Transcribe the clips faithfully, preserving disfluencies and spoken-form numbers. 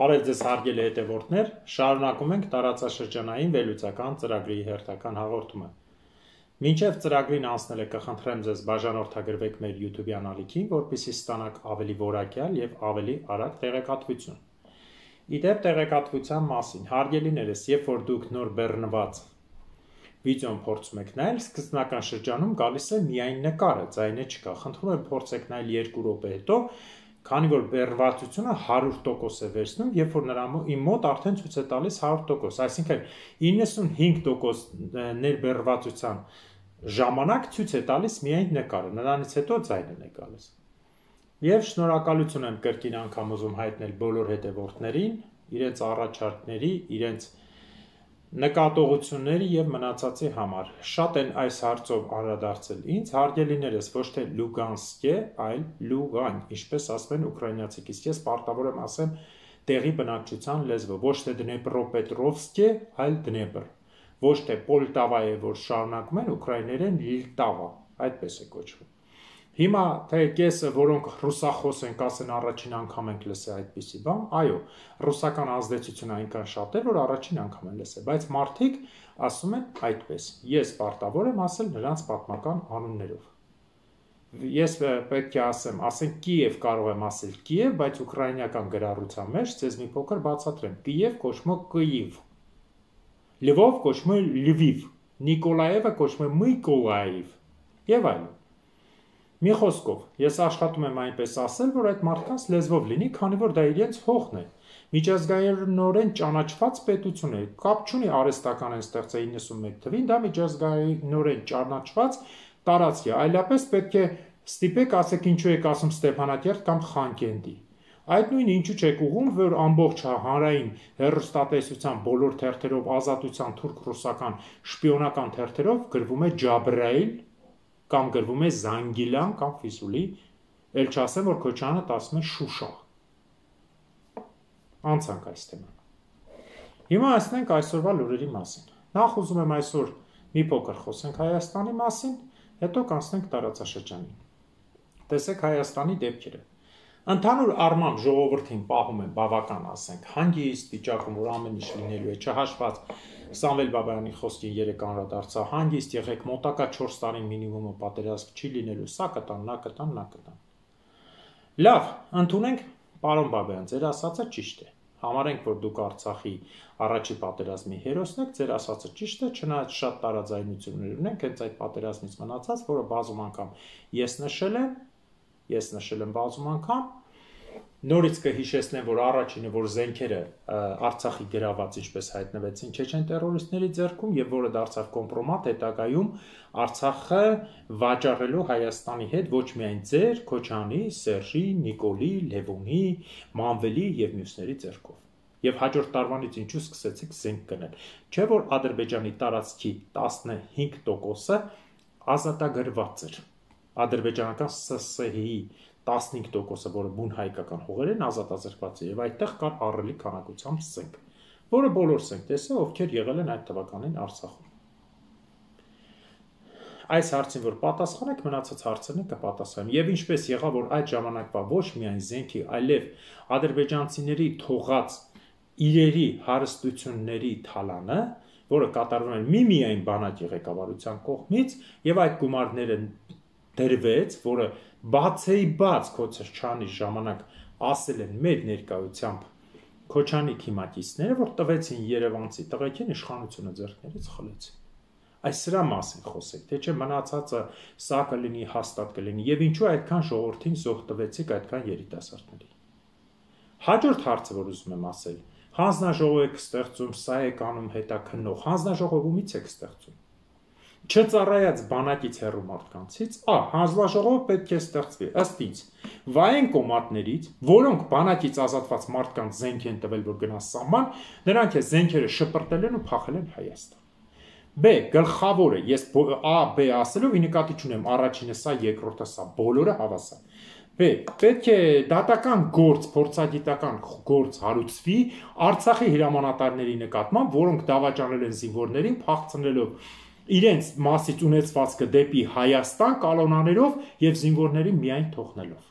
Բարև ձեզ հարգելի հետևորդներ, շարունակում ենք տարածաշրջանային վերլուծական ծրագրի հերթական հաղորդումը։ Մինչև ծրագրին անցնելը կխնդրեմ ձեզ բաժանորդագրվեք մեր YouTube-յան ալիքին, որպեսզի ստանաք ավելի որակյալ եւ ավելի արագ տեղեկատվություն։ Իդեպ տեղեկատվության մասին, հարգելիներս, երբ որ դուք նոր բեռնված վիդեոն փորձում եք նայել, սկզբնական շրջանում գալիս է միայն նկարը, ձայնը չկա։ Խնդրում եմ փորձեք նայել երկու րոպե հետո, քանի որ բեռնվածությունը հարյուր տոկոս է վերցնում, երբ որ նրա իմ մոտ արդեն ցույց է տալիս հարյուր տոկոս, այսինքն իննսունհինգ տոկոս ներբեռնվածության ժամանակ ցույց է տալիս միայն նկարը, նրանից հետո ձայնն է գալիս։ Եվ շնորհակալություն եմ կրկին անգամ ուզում հայտնել բոլոր հետևորդներին, իրենց առաջարկների, իրենց նկատողությունների եւ մնացածի համար։ Շատ են այս հարցով անդրադարձել ինձ, հարգելիներս, ոչ թե Լուգանսկե, այլ Լուգան, ինչպես ասում են ուկրաինացիք, իսկ ես պարտավոր եմ ասեմ տեղի բնակչության լեզվով, ոչ թե Դնեպրոպետրովսկե, այլ Դնեպր, ոչ թե Պոլտավա է, որ շարունակում են ուկրաիներեն Լիտավա, այդպես է կոչվում։ Հիմա թե կեսը, որոնք ռուսախոս են, կասեն առաջին անգամ ենք լսել այդպիսի բան, այո, ռուսական ազդեցությունը այնքան շատ է, որ առաջին անգամ են լսել, բայց մարդիկ ասում են այդպես։ Ես պարտավոր եմ ասել նրանց պատմական անուններով։ Ես պետք է ասեմ, ասենք Կիև կարող եմ ասել Կիև, բայց ուկրաինական գրառության մեջ ձեզ մի փոքր բացատրեմ։ Կիև կոչվում է Կիև։ Լվով կոչվում է Լվիվ, Նիկոլաևը կոչվում է Միկոլաև եւ այլն։ Մի խոսքով, ես աշխատում եմ այնպես ասել, որ այդ մարդկանց լեզվով լինի, քանի որ դա իրենց հողն է։ Միջազգայինորեն ճանաչված պետություն է, կապ չունի արհեստական են ստեղծել իննսունմեկ թվին, դա միջազգայինորեն ճանաչված տարածք է, այլապես պետք է ստիպեք, ասեք ինչու եք ասում Ստեփանակերտ կամ Խանկենդի։ Այդ նույնը ինչու չեք ուղում, որ ամբողջ հանրային հեռուստատեսության բոլոր թերթերով, ազատության թուրք-ռուսական շպիոնական թերթերով գրվում է Ջաբրայիլ կամ գրվում է Զանգիլան կամ Ֆիսուլի, էլ չասեմ, որ Քոչարյանը ասում է Շուշա։ Անցանք այս թեման։ Հիմա ասենք այսօրվա լուրերի մասին։ Նախ ուզում եմ այսօր մի փոքր խոսենք Հայաստանի մասին, հետո կանցնենք տարածաշրջանին։ Տեսեք Հայաստանի դեպքերը։ Ընդհանուր առմամբ ժողովրդին պահում են բավական, ասենք, հանգիստ վիճակում, որ ամեն ինչ լինելու է, չհաշված Սամվել Բաբայանի խոսքին երեք անդրադարձա, հանգիստ եղեք, մոտակա չորս տարի մինիմումը պատերազմ չի լինելու, սա կտան, նա կտան, նա կտան։ Լավ, ընդունենք, պարոն Բաբայան, ձեր ասածը ճիշտ է։ Համարենք, որ դուք Արցախի առաջի պատերազմի հերոսն եք, ձեր ասածը ճիշտ է, չնայած շատ տարաձայնություններ ունենք, հենց այդ պատերազմից մնացած, որը բազում անգամ ես նշել եմ, ես նշել եմ բազում անգամ, նորից կհիշեցնեմ, որ առաջինը, որ զենքերը Արցախի գրաված ինչպես հայտնվեցին չեչեն տերորիստների ձեռքում եւ որը դարձավ կոմպրոմատ հետագայում Արցախը վաճառելու Հայաստանի հետ ոչ միայն ձեր, Քոչանի, Սերժի, Նիկոլի, Լևոնի, Մանվելի եւ մյուսների ձեռքով։ Եւ հաջորդ տարվանից ինչու սկսեցիք զենք գնել։ Չէ՞ որ Ադրբեջանի տարածքի տասնհինգ տոկոսը ազատագրված էր։ Ադրբեջանական S S H-ի տասնհինգ տոկոսը, որը բուն հայկական հողեր են, ազատազրկված է եւ այդտեղ կար ահռելի քանակությամբ զենք, որը բոլորս ենք տեսել, ովքեր եղել են այդ թվականին Արցախում։ Այս հարցին որ պատասխանեք, մնացած հարցերն կպատասխանեմ։ Եվ ինչպես եղավ, որ այդ ժամանակվա ոչ միայն զենքի, այլև ադրբեջանցիների թողած իրերի հարստությունների թալանը, որը կատարվում է միմիայն բանակի ղեկավարության կողմից, եւ այդ գումարները դրվեց, որը բացեի բաց Քոչարյանի ժամանակ ասել են մեր ներկայությամբ Քոչանի քիմակիցները, որ տվեցին Երևանցի տղեկին իշխանությունը ձեռքներից խլեցին։ Այս սրա մասին խոսեք, թե չէ մնացածը սա կլինի, հաստատ կլինի, եւ ինչու այդքան ժողովրդին զոհ տվեցիք այդքան երիտասարդների։ Հաջորդ հարցը, որ ուզում եմ ասել, հանձնաժողով եք ստեղծում, սա եք անում հետաքննող, հանձնաժողովումից եք ստեղծում։ Չծառայած բանակից հեռու մարդկանցից, ա, հանձնաժողովը պետք է ստեղծվի, ըստ ինձ, վայեն կոմատներից, որոնք բանակից ազատված մարդկանց զենք են տվել, որ գնա սահման, նրանք է զենքերը շպրտել են ու փախել են Հայաստան։ B. Գլխավորը, ես A, B ասելով ի նկատի չունեմ, առաջինը սա, երկրորդը սա, բոլորը հավասար։ B. Պետք է դատական գործ, փորձագիտական գործ հարուցվի Արցախի հրամանատարների նկատմամբ, որոնք դավաճանել են զինվորներին, փախցնելով իրենց մասից ունեցվածքը դեպի Հայաստան կալոնաներով եւ զինվորներին միայն թողնելով։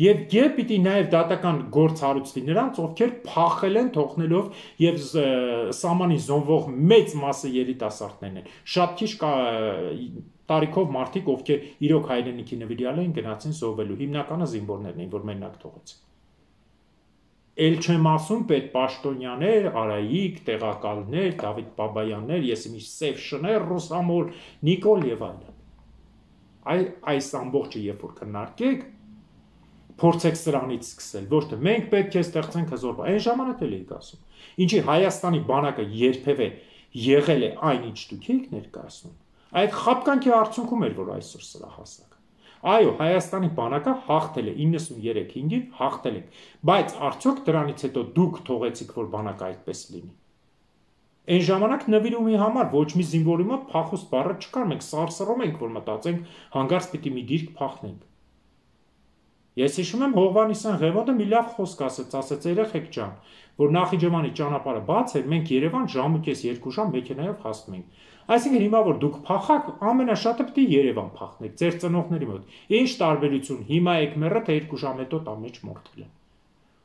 Եվ եւ պիտի նաեւ դատական գործ հարուցվի նրանց, ովքեր փախել են թողնելով եւ սահմանի զոնվող մեծ մասը երիտասարդներն են։ Շատ քիչ տարիքով մարդիկ, ովքեր իրոք հայրենիքի նվիրյալ էին, գնացին զոհվելու, հիմնականը զինվորներն էին, որ մենակ թողեցին։ Էլ չեմ ասում պետպաշտոնյաներ, Արայիկ, տեղակալներ, Դավիթ Բաբայաններ, ես իմի Սև Շներ, Ռուսամոլ, Նիկոլ եւ այլն։ Այ այս ամբողջը երբ որ քննարկեք, փորձեք սրանից սկսել, ոչ թե մենք պետք է ստեղծենք հզոր, այն ժամանակ էլ էիք ասում։ Ինչի Հայաստանի բանակը երբևէ եղել է այն ինչ դուք եք ներկայացնում։ Այդ խապկանքի արդյունքում էր, որ այսօր սրա հասակ։ Այո, Հայաստանի բանակը հաղթել է իննսուններեք հինգին, հաղթել եք, բայց արդյոք դրանից հետո դուք թողեցիք, որ բանակը այդպես լինի։ Այն ժամանակ նվիրումի համար ոչ մի զինվորի մոտ փախուստ բառը չկար, մենք սարսռում ենք, որ մտածենք հանգարց պիտի մի դիրք փախնենք։ Ես հիշում եմ Հովհաննիսյան Ղևոնդը մի լավ խոսք ասեց, ասեց երեխեք ջան, որ Նախիջևանի ճանապարհը բաց էր, մենք Երևան ժամ ու կես երկու ժամ մեքենայով հասնում ենք։ Այսինքն հիմա որ դուք փախաք, ամենաշատը պիտի Երևան փախնեք, ձեր ծնողների մոտ։ Ինչ տարբերություն, հիմա եք մեռը, թե երկու ժամ հետո տան մեջ մորթել են։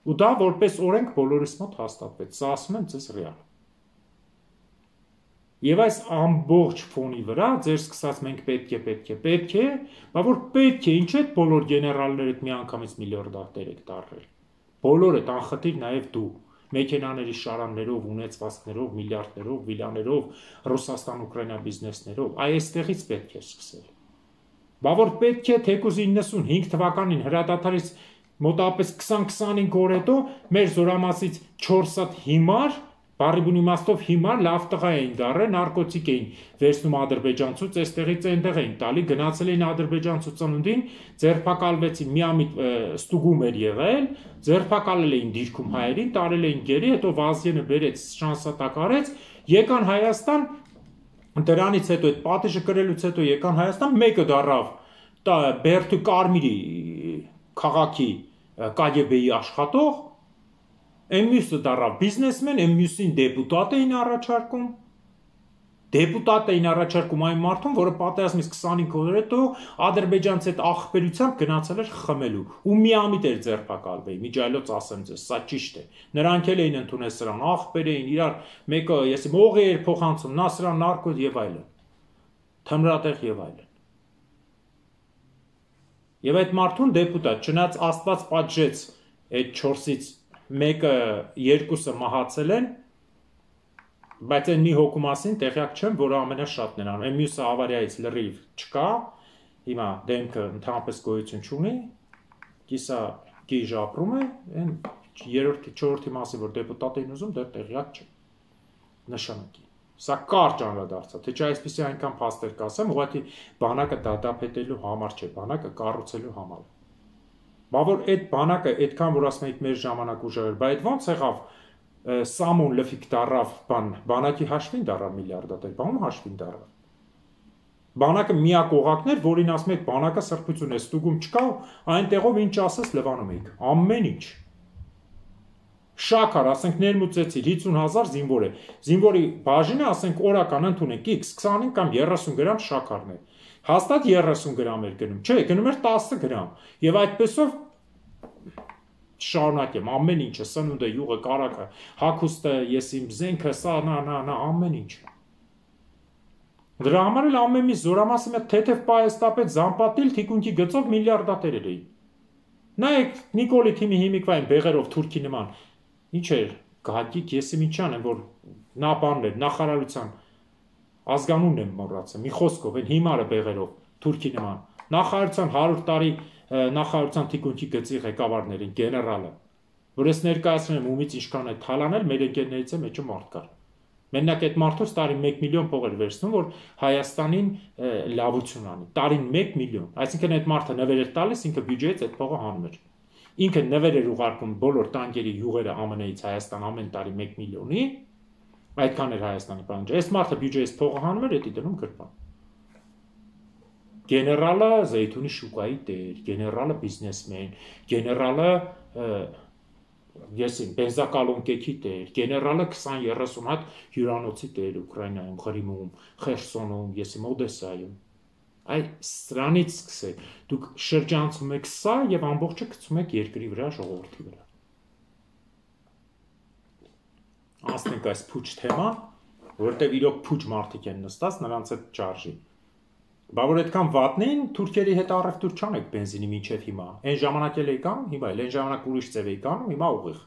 Ու դա որպես օրենք բոլորիս մոտ հաստատվեց, սա ասում եմ ձեզ ռեալ։ Եվ այս ամբողջ ֆոնի վրա ձեր սկսած մենք պետք է, պետք է, պետք է, բա որ պետք է, ինչ է բոլոր գեներալներդ միանգամից միլիարդատեր եք դառել։ Բոլորը անխտիր նաև դու, մեքենաների շարաններով, ունեցվածքներով, միլիարդներով, վիլաներով, Ռուսաստան-Ուկրաինա բիզնեսներով, այ այստեղից պետք է սկսել։ Բա որ պետք է թեկուզ իննսունհինգ թվականին հրադադարից մոտավորապես քսան-քսանհինգ օր հետո մեր զորամասից չորս հատ հիմար Բարի բուն իմաստով հիմար լավ տղա էին դառել, նարկոտիկ էին վերցնում ադրբեջանցուց, այստեղից այնտեղ էին տալի, գնացել էին ադրբեջանցու ծնունդին, ձերբակալվեցին, միամիտ ստուգում էր եղել, ձերբակալել էին դիրքում հայերին, տարել էին գերի, հետո Վազգենը բերեց, շանսատակ արեց, եկան Հայաստան, դրանից հետո այդ պատիժը կրելուց հետո եկան Հայաստան, մեկը դառավ Բերդու Կարմիրի քաղաքի Կ Գ B-ի աշխատող, Այն մյուսը դառավ բիզնեսմեն, այն մյուսին դեպուտատ էին առաջարկում։ Դեպուտատ էին առաջարկում այն մարդուն, որը պատերազմից քսանհինգ օր հետո ադրբեջանց հետ ախպերությամբ գնացել էր խմելու ու միամիտ էր ձերբակալվել։ Միջայլոց ասեմ ձեզ, սա ճիշտ է։ Նրանք էլ էին ընդունել սրան, ախպեր էին, իրար մեկը, ես մողի էր փոխանցում, նա սրան նարկոտ եւ այլն։ Թմրատեղ եւ այլն։ Եվ այդ մարդուն դեպուտատ, չնայած Աստված պատժեց այդ չորսից մեկը երկուսը մահացել են, բայց այն մի հոգու մասին տեղյակ չեմ, որը ամենաշատն են անում։ Այն մյուսը ավարիայից լրիվ չկա, հիմա դեմքը ընդհանրապես գոյություն չունի, կիսա գիժ ապրում է, այն երրորդի, չորրորդի մասի, որ դեպուտատ էին ուզում, դեռ տեղյակ չեմ։ Նշանակի։ Սա կարճ անդրադարձա, թե չէ այսպեսի այնքան փաստեր կասեմ, ուղղակի բանակը դատապետելու համար չէ, բանակը կառուցելու համար։ Բա որ այդ բանակը այդքան որ ասում եք մեր ժամանակ ուժեր, բայց ո՞նց եղավ Սամոն լֆիկ դարավ բան, բանակի հաշվին դարավ միլիարդատեր, բանում հաշվին դարավ։ Բանակը միակ օղակն էր, որին ասում եք բանակը սրբություն է, ստուգում չկա, այնտեղով ինչ ասես լվանում եք, ամեն ինչ։ Շաքար, ասենք ներմուծեցիր հիսուն հազար զինվոր է, զինվորի բաժինը ասենք օրական ընդունենք X քսանհինգ կամ երեսուն գրամ շաքարն է։ Հաստատ երեսուն գրամ էր գնում, չէ, գնում էր տասը գրամ, և այդպեսով շարունակեմ, ամեն ինչը, սնունդը, յուղը, կարակը, հագուստը, ես իմ զենքը, սա, նա, նա, նա, ամեն ինչ։ Դրա համար էլ ամեն մի զորամասի մեջ թեթև պահեստապետ Զամպատիլ թիկունքի գծով միլիարդատերեր էին։ Նայեք Նիկոլի թիմի հիմիկվային բեղերով թուրքի նման, ինչ էր, Գագիկ Եսիմինչյան են, որ նա բանն էր, նախարարության ազգանունն եմ մոռացել, մի խոսքով, այն հիմարը բեղերով, թուրքի նման, նախարարության հարյուր տարի նախարարության թիկունքի գծի ղեկավարներին, գեներալը, որ ես ներկայացնում եմ ումից ինչքան է թալանել, մեր ընկերներից է մեջը մարդ կար։ Մենակ այդ մարդուց տարին մեկ միլիոն փող էր վերցնում, որ Հայաստանին լավություն անի, տարին մեկ միլիոն, այսինքն այդ մարդը նվեր էր տալիս, ինքը բյուջեից այդ փողը հանում էր։ Ինքը նվեր էր ուղարկում բոլոր տանկերի յուղերը Ամեն Էից Հայաստան ամեն տարի մեկ միլիոնի, այդքան էր Հայաստանի բանջը։ Այս մարդը բյուջեից փողը հանում էր, էդի դնում գրպան։ Գեներալը Զեյթունի շուկայի տեր, գեներալը բիզնեսմեն, գեներալը Եսին բենզակալոնկեքի տեր, գեներալը քսան երեսուն հատ հյուրանոցի տեր Ուկրաինայում, Ղրիմում, Խերսոնում, եսիմ Օդեսայում։ Այ սրանից սկսեք, դուք շրջանցում եք սա եւ ամբողջը գցում եք երկրի վրա, ժողովրդի վրա։ Անցնենք այս փուչ թեման, որտեղ իրոք փուչ մարդիկ են նստած, նրանց հետ չարժի։ Բա որ այդքան վատնին թուրքերի հետ առևտուր չանեք բենզինի մինչև հիմա։ Այն ժամանակ էլ էի կանում, հիմա էլ այն ժամանակ ուրիշ ձև էի կանում, հիմա ուղիղ։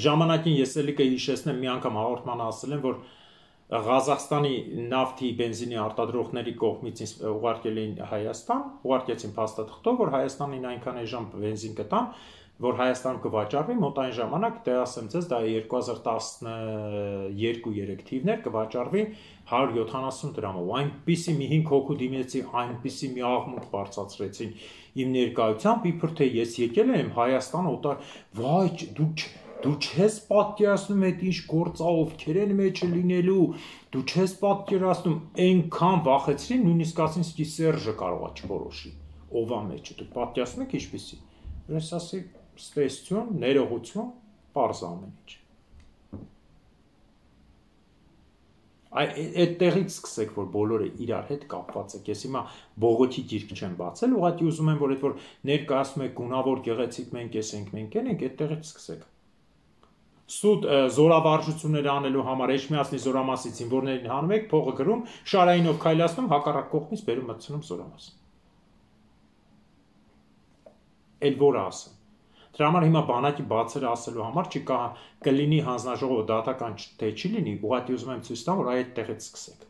Ժամանակին ես էլի կհիշեցնեմ, մի անգամ հաղորդման ասել եմ, որ Ղազախստանի նավթի բենզինի արտադրողների կողմից ուղարկել էին Հայաստան, ուղարկեցին փաստաթղթով, որ Հայաստանին այնքան էժան բենզին կտան, որ Հայաստանում կվաճառվի, մոտ այն ժամանակ, դե ասեմ ձեզ, դա երկու հազար տասնյոթ երեք թիվներ կվաճառվի հարյուր յոթանասուն դրամով։ Այնպիսի մի հինգ հոգու դիմեցի, այնպիսի մի աղմուկ բարձրացրեցին իմ ներկայությամբ, իբր թե ես եկել եմ Հայաստան օտար, վայ, դու Դու չես պատկերացնում այդ ինչ գործա ովքեր են մեջը լինելու, դու չես պատկերացնում, այնքան վախեցրին, նույնիսկ ասին սկի Սերժը կարողա չորոշի, ով է մեջը, դուք պատկերացնում եք ինչպիսի։ Ես ասի, ստեսություն, ներողություն, պարզ ամեն ինչ։ Այդտեղից սկսեք, որ բոլորը իրար հետ կապված եք, ես հիմա բողոքի գիրք չեմ բացել, ուղղակի ուզում եմ, որ այդ որ ներկայացում եք գունավոր գեղեցիկ մենք ես ենք, մենք ենք, այդտեղից սկսեք։ Սուտ զորավարժություններ անելու համար Էջմիածնի զորամասից զինվորներին հանում եք, փողը գրում, շարայինով քայլացնում, հակառակ կողմից բերում մտցնում զորամաս։ Էլ որը ասեմ։ Դրա համար հիմա բանակի բացերը ասելու համար չկա կլինի հանձնաժողովը դատական թե չի լինի, ուղղակի ուզում եմ ցույց տամ, որ այդտեղից սկսեք։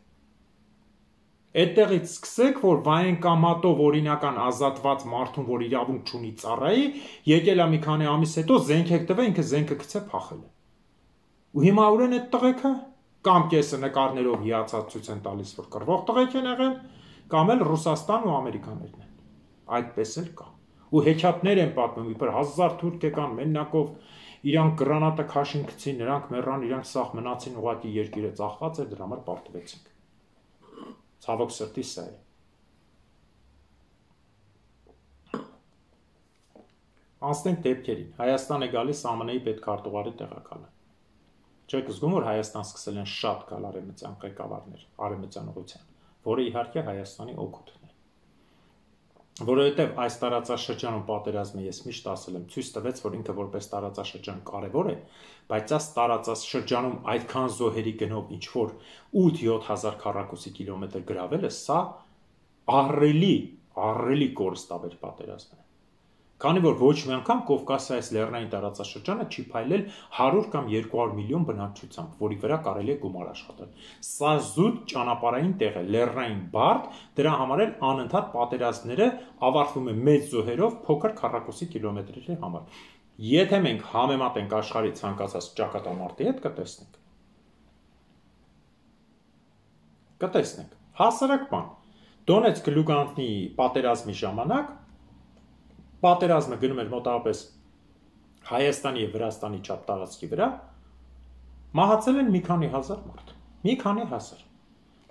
Այդտեղից սկսեք, որ վայեն կամատով օրինական ազատված մարդուն, որ իրավունք չունի ծառայի, եկել է մի քանի ամիս հետո զենք եք տվել, ինքը զենքը գցե փախել է։ Ու հիմա ուր են այդ տղեկը, կամ կեսը նկարներով հիացած ցույց են տալիս, որ կռվող տղեկ են եղել, կամ էլ Ռուսաստան ու ամերիկաներն են։ Այդպես էլ կա։ Ու հեքիաթներ են պատմում, իբր հազար թուրք եկան մեննակով, իրանք գրանատը քաշին գցին, նրանք մեռան, իրանք սաղ մնացին, ուղղակի երկիրը ծախված էր, դրա համար պարտվեցինք։ Ցավոք սրտի սա է։ Անցնենք դեպքերին։ Հայաստան է գալիս Ա Մ Ն-ի պետքարտուղարի տեղակալը։ Չեք զգում, որ Հայաստան սկսել են շատ գալ արևմտյան ղեկավարներ, արևմտյան ուղղության, որը իհարկե Հայաստանի օգուտն է։ Որովհետև այս տարածաշրջանում պատերազմը ես միշտ ասել եմ, ցույց տվեց, որ ինքը որպես տարածաշրջան կարևոր է, բայց այս տարածաշրջանում այդքան զոհերի գնով ինչ որ ութ-յոթ հազար քառակուսի կիլոմետր գրավելը, սա ահռելի, ահռելի կորստաբեր պատերազմ է։ Քանի որ ոչ մի անգամ Կովկասիայից լեռնային տարածաշրջանը չի փայլել հարյուր կամ երկու հարյուր միլիոն բնակչությամբ, որի վրա կարելի է գումար աշխատել։ Սա զուտ ճանապարհային տեղ է, լեռնային բարդ, դրա համար էլ անընդհատ պատերազմները ավարտվում են մեծ զոհերով փոքր քառակուսի կիլոմետրերի համար։ Եթե մենք համեմատենք աշխարհի ցանկացած ճակատամարտի հետ, կտեսնենք։ Կտեսնենք։ Հասարակ բան։ Դոնեցկ Լուգանսկի պատերազմի ժամանակ պատերազմը գնում էր մոտավորապես Հայաստանի եւ Վրաստանի չափ տարածքի վրա, մահացել են մի քանի հազար մարդ, մի քանի հազար։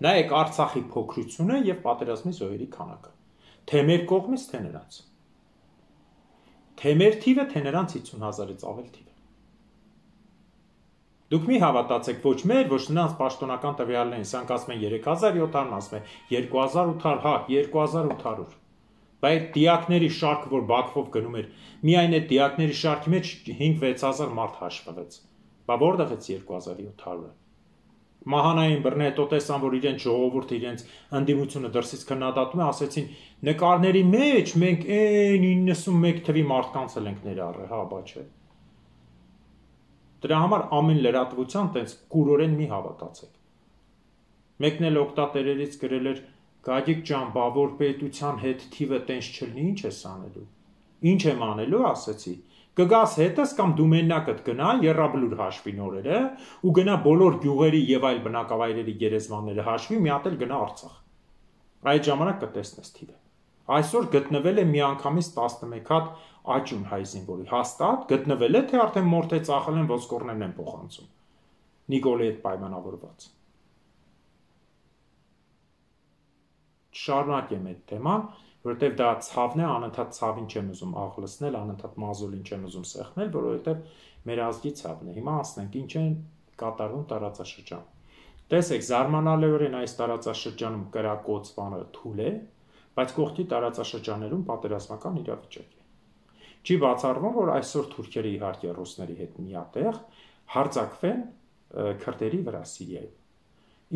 Նայեք Արցախի փոքրությունը եւ պատերազմի զոհերի քանակը, թե մեր կողմից, թե նրանց։ Թե մեր թիվը, թե նրանց հիսուն հազարից ավել թիվը։ Դուք մի հավատացեք ոչ մեր, ոչ նրանց պաշտոնական տվյալներին, սրանք ասում են երեք հազար յոթ հարյուր, ասում են երկու հազար ութ հարյուր, հա, երկու հազար ութ հարյուր։ Բայց դիակների շարքը, որ Բաքվով գնում էր, միայն այդ դիակների շարքի մեջ հինգ-վեց հազար մարդ հաշվվեց։ Բա որտեղից երկու հազար յոթ հարյուրը։ Մահանային բռնետո տեսան, որ իրենց ժողովուրդը իրենց ընդդիմությունը դրսից քննադատում է, ասեցին նկարների մեջ մենք այն իննսունմեկ թվի մարդկանց էլ ենք ներառել, հա, բա չէ։ Դրա համար ամեն լրատվության տենց կուրորեն մի հավատացեք։ Մեկն էլ օկտատերերից գրել էր Գագիկ ջան, բա որ պետության հետ թիվը տենց չլինի, ինչ ես անելու։ Ինչ եմ անելու, ասեցի։ Կգաս հետս կամ դու մենակդ գնա Եռաբլուր հաշվի նորերը ու գնա բոլոր գյուղերի եւ այլ բնակավայրերի գերեզմանները հաշվի, մի հատ էլ գնա Արցախ։ Այդ ժամանակ կտեսնես թիվը։ Այսօր գտնվել է միանգամից տասնմեկ հատ աճուն հայ զինվորի, հաստատ գտնվել է, թե արդեն մորթե ծախել են ոսկորներն են փոխանցում։ Նիկոլի հետ պայմանավորված։ Շարունակեմ այդ թեման, որովհետև դա ցավն է, անընդհատ ցավին չեմ ուզում աղլսնել, անընդհատ մազոլին չեմ ուզում սեղմել, որովհետև մեր ազգի ցավն է։ Հիմա ասենք ինչ են կատարվում տարածաշրջանում։ Տեսեք, զարմանալիորեն այս տարածաշրջանում կրակոծվանը թույլ է, բայց կողքի տարածաշրջաներում պատերազմական իրավիճակ է։ Չի բացառվում, որ այսօր թուրքերը իհարկե ռուսների հետ միատեղ հարձակվեն քրդերի վրա Սիրիայում։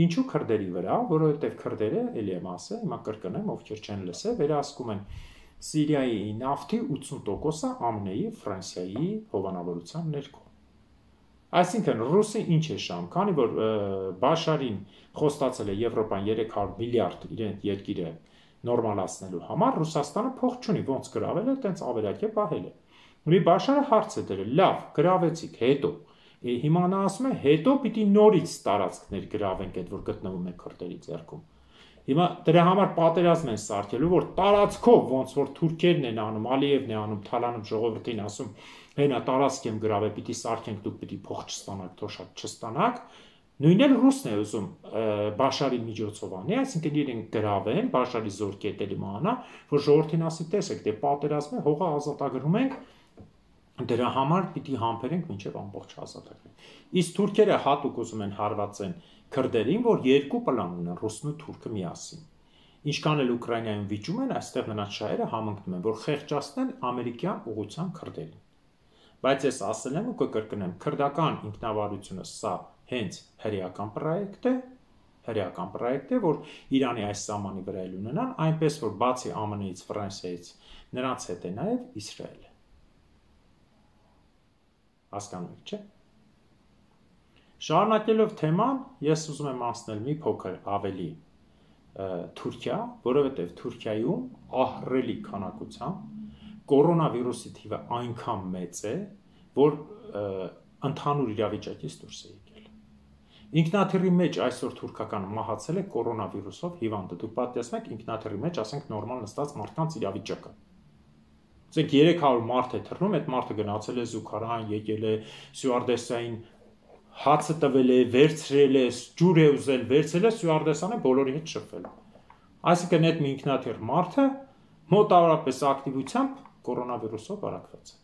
Ինչու քրդերի վրա, որովհետև քրդերը, ելի եմ ասել, հիմա կրկնեմ, ովքեր չեն լսել, վերահսկում են Սիրիայի նավթի ութսուն տոկոսը ԱՄՆ-ի, Ֆրանսիայի հովանավորության ներքո։ Այսինքն ռուսը ինչ է շահում, քանի որ Բաշարին խոստացել է Եվրոպան երեք հարյուր միլիարդ իրեն երկիրը նորմալացնելու համար, Ռուսաստանը փող չունի, ոնց գրավել է, տենց ավերակ է պահել է։ Մի Բաշարը հարց է դրել, լավ, գրավեցիք, հետո հիմա նա ասում է, հետո պիտի նորից տարածքներ գրավենք այդ, որ գտնվում է քրդերի ձեռքում։ Հիմա դրա համար պատերազմ են սարքելու, որ տարածքով ոնց որ թուրքերն են անում, Ալիևն է անում, Թալանում ժողովրդին ասում, հենա տարածք եմ գրավել, պիտի սարքենք, դուք պիտի փող չստանաք, թող շատ չստանաք։ Նույնն էլ ռուսն է ուզում Բաշարի միջոցով անի, այսինքն իրեն գրավեն, Բաշարի զորքերը իմանա, որ ժողովրդին ասի, տեսեք, դե պատերազմ է, հողը ազատագրում ենք, դրա համար պիտի համբերենք մինչև ամբողջ ազատագրենք։ Իսկ թուրքերը հատուկ ուզում են հարվածեն քրդերին, որ երկու պլան ունեն, ռուսն ու թուրքը միասին։ Ինչքան էլ Ուկրաինայում վիճում են, այստեղ նրանց շահերը համընկնում են, որ խեղճացնեն ամերիկյան ուղղության քրդերին։ Բայց ես ասել եմ ու կկրկնեմ, քրդական ինքնավարությունը սա հենց հրեական պրոյեկտ է, հրեական պրոյեկտ է, որ Իրանի այս սահմանի վրա էլ ունենան, այնպես որ բացի ԱՄՆ-ից, Ֆրանսիայից, նրանց հետ է նաև Իսրայելը։ Հասկանում եք, չէ՞։ Շարունակելով թեման, ես ուզում եմ անցնել մի փոքր ավելի Թուրքիա, որովհետև Թուրքիայում ահռելի քանակությամբ կորոնավիրուսի թիվը այնքան մեծ է, որ ընդհանուր իրավիճակից դուրս է եկել։ Ինքնաթիռի մեջ այսօր թուրքական մահացել է կորոնավիրուսով հիվանդը։ Դուք պատկերացնում եք ինքնաթիռի մեջ, ասենք նորմալ նստած մարդկանց իրավիճակը։ Ասենք երեք հարյուր մարդ է թռնում, այդ մարդը գնացել է զուգարան, եկել է ստյուարդեսային հացը տվել է, վերցրել է, ջուր է ուզել, վերցրել է, ստյուարդեսանը բոլորի հետ շփվել։ Այսինքն այդ մի ինքնաթիռ մարդը մոտավորապես ակտիվությամբ կորոնավիրուսով վարակված է։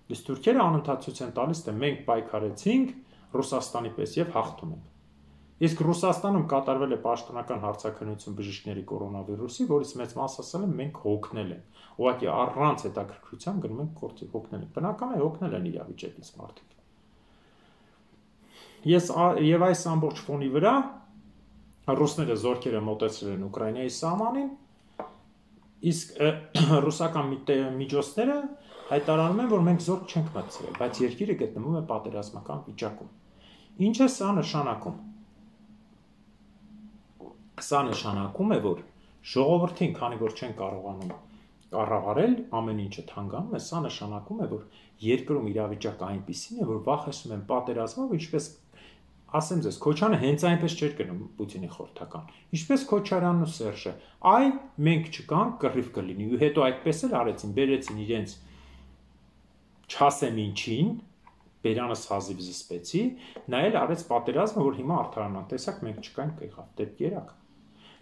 Իսկ թուրքերը անընդհատ ցույց են տալիս, թե մենք պայքարեցինք Ռուսաստանի պես եւ հաղթում ենք։ Իսկ Ռուսաստանում կատարվել է պաշտոնական հարցաքննություն բժիշկների կորոնավիրուսի, որից մեծ մասը ասել են մենք հոգնել ենք։ Ուղղակի առանց հետաքրքրության գնում ենք գործի հոգնել ենք։ Բնական է հոգնել են իրավիճակից մարդիկ։ Ես եւ այս ամբողջ ֆոնի վրա ռուսները զորքերը մոտեցրել են Ուկրաինայի սահմանին, իսկ ռուսական միջոցները հայտարարում են, որ մենք զորք չենք մտցրել, բայց երկիրը գտնվում է պատերազմական վիճակում։ Ինչ է սա նշանակում։ Սա նշանակում է, որ ժողովրդին, քանի որ չեն կարողանում կառավարել, ամեն ինչը թանկանում է, սա նշանակում է, որ երկրում իրավիճակը այնպիսին է, որ վախեցնում են պատերազմով, ինչպես ասեմ ձեզ, Քոչարյանը հենց այնպես չէր գնում Պուտինի խորհրդական։ Ինչպես Քոչարյանն ու Սերժը, այ մենք չկանք, կռիվ կլինի, ու հետո այդպես էլ արեցին, բերեցին իրենց չասեմ ինչին, բերանս հազիվ զսպեցի, նա էլ արեց պատերազմը, որ հիմա արդարանան, տեսակ մենք չկանք եղավ, դեպք երակ։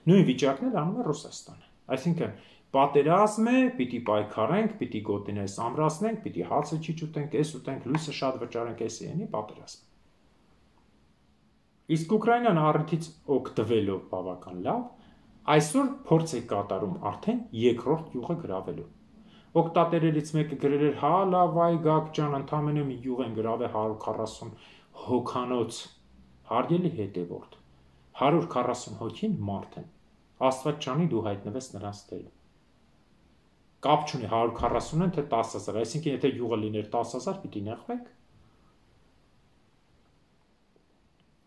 Նույն վիճակն էլ անում է Ռուսաստանը։ Այսինքն պատերազմ է, պիտի պայքարենք, պիտի գոտիներս ամրացնենք, պիտի հացը չի ուտենք, էս ուտենք, լույսը շատ վճարենք, էս յենի պատերազմ։ Իսկ Ուկրաինան առիթից օգտվելով բավական լավ, այսօր փորձ է կատարում արդեն երկրորդ յուղը գրավելու։ Օգտատերերից մեկը գրել էր, հա լավ, այ Գագ ջան, ընդամենը մի յուղ են գրավել հարյուր քառասուն հոգանոց, հարգելի հետևորդ, հարյուր քառասուն հոգին մարդ են, Աստված ջանի դու հայտնվես նրանց դերում։ Կապ չունի հարյուր քառասուն են, թե տասը հազար, այսինքն եթե յուղը լիներ տասը հազար, պիտի նեղվենք։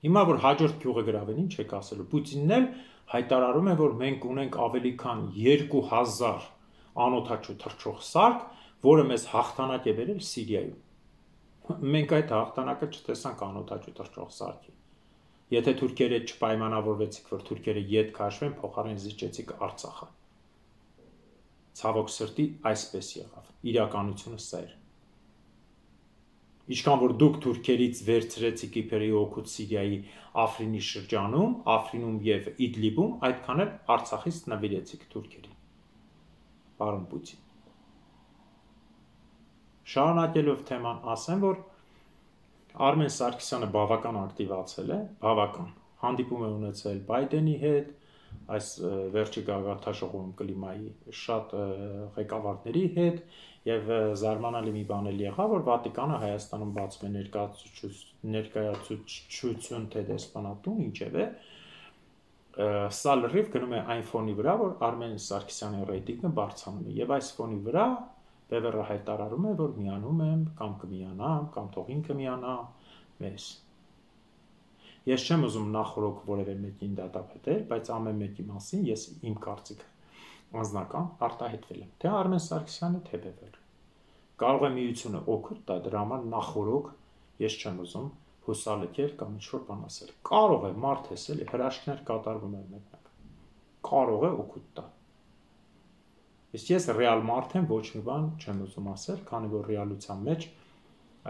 Հիմա որ հաջորդ յուղը գրավեն, ինչ եք ասելու, Պուտինն էլ հայտարարում է, որ մենք ունենք ավելի քան երկու հազար անօդաչու թռչող սարք, որը մեզ հաղթանակ է բերել Սիրիայում։ Մենք այդ հաղթանակը չտեսանք անօդաչու թռչող սարքի։ Եթե թուրքերը չպայմանավորվեցիք, որ թուրքերը ետ քաշվեն, փոխարեն զիջեցիք Արցախը։ Ցավոք սրտի այսպես եղավ։ Իրականությունը սա էր։ Ինչքան որ դուք թուրքերից վերցրեցիք իբրեի օգուտ Սիրիայի Աֆրինի շրջանում, Աֆրինում եւ Իդլիբում, այդքան էլ Արցախից նվիրեցիք թուրքերին։ պարոն Պուտին։ Շարունակելով թեման ասեմ, որ Արմեն Սարգսյանը բավական ակտիվացել է, բավական, հանդիպում է ունեցել Բայդենի հետ, այս վերջի գագաթնաժողովում կլիմայի շատ ղեկավարների հետ եւ զարմանալի մի բան էլ եղավ, որ Վատիկանը Հայաստանում բացում է ներկայացուցչություն թե դեսպանատուն, ինչևէ, սա լրիվ գնում է այն ֆոնի վրա, որ Արմեն Սարգսյանի ռեյտինգը բարձրանում է եւ այս ֆոնի վրա Բևերը հայտարարում է, որ միանում եմ կամ կմիանամ, կամ թող ինքը միանա մեզ։ Ես չեմ ուզում նախորոք որևէ մեկին դատապետել, բայց ամեն մեկի մասին ես իմ կարծիքը անձնական արտահայտվել եմ, թե Արմեն Սարգսյանը, թե Բևերը։ Կարող է միությունը օգուտ տա, դրա համար նախորոք ես չեմ ուզում հուսալքել կամ ինչ-որ բան ասել։ Կարող է մարդ ես էլի հրաշքներ կատարվում են մեկնակ։ Կարող է օգուտ տա։ Իսկ ես ռեալ մարդ եմ, ոչ մի բան չեմ ուզում ասել, քանի որ ռեալության մեջ